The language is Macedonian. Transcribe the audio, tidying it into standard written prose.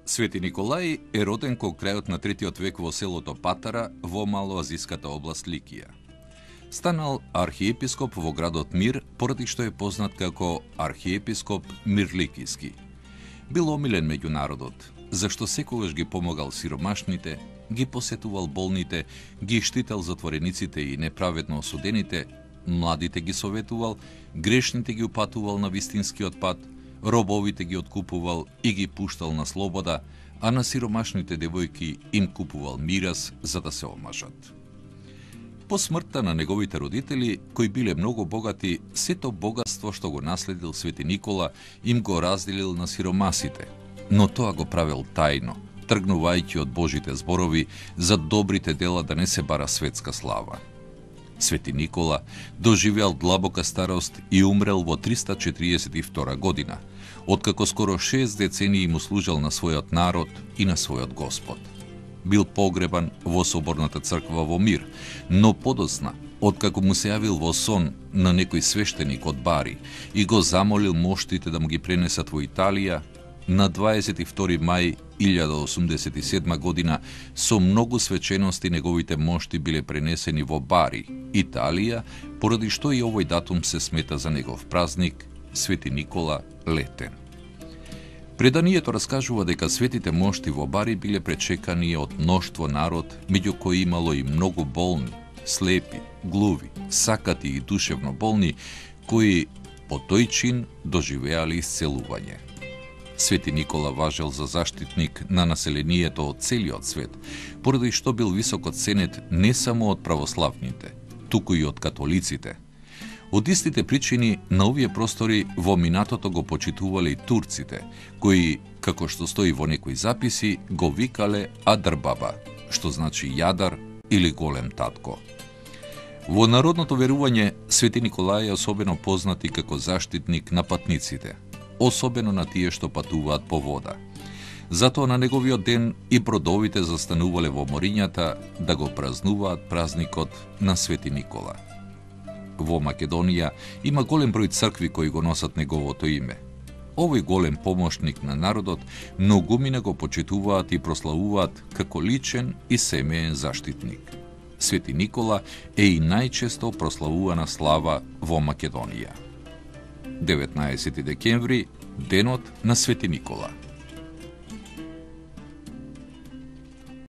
Свети Николај е роден кон крајот на 3 век во селото Патара во малоазиската област Ликија. Станал архиепископ во градот Мир, поради што е познат како архиепископ Мирликиски. Бил омилен меѓу народот, зашто секогаш ги помогал сиромашните, ги посетувал болните, ги штител затворениците и неправедно осудените, младите ги советувал, грешните ги упатувал на вистинскиот пат, робовите ги откупувал и ги пуштал на слобода, а на сиромашните девојки им купувал мирас за да се омажат. По смртта на неговите родители, кои биле многу богати, сето богатство што го наследил Свети Никола им го разделил на сиромасите, но тоа го правил тајно, тргнувајќи од Божите зборови за добрите дела да не се бара светска слава. Свети Никола доживеал длабока старост и умрел во 342 година, откако скоро 6 децении му служел на својот народ и на својот Господ. Бил погребан во соборната црква во Мир, но подоцна, откако му се јавил во сон на некој свештеник од Бари и го замолил моштите да му ги пренесат во Италија, на 22 мај 1087 година со многу свечености неговите мошти биле пренесени во Бари, Италија, поради што и овој датум се смета за негов празник, Свети Никола Летен. Преданието раскажува дека светите мошти во Бари биле пречекани од мноштво народ, меѓу кои имало и многу болни, слепи, глуви, сакати и душевно болни, кои по тој чин доживеали исцелување. Свети Никола важел за заштитник на населението од целиот свет, поради што бил високо ценет не само од православните, туку и од католиците. Од истите причини на овие простори во минатото го почитувале и турците, кои, како што стои во некои записи, го викале Адарбаба, што значи јадар или голем татко. Во народното верување, Свети Николај е особено познат и како заштитник на патниците, особено на тие што патуваат по вода. Затоа на неговиот ден и бродовите застанувале во морињата да го празнуваат празникот на Свети Никола. Во Македонија има голем број цркви кои го носат неговото име. Овој голем помошник на народот многумина го почитуваат и прославуваат како личен и семеен заштитник. Свети Никола е и најчесто прославувана слава во Македонија. 19 декември, денот на Свети Никола.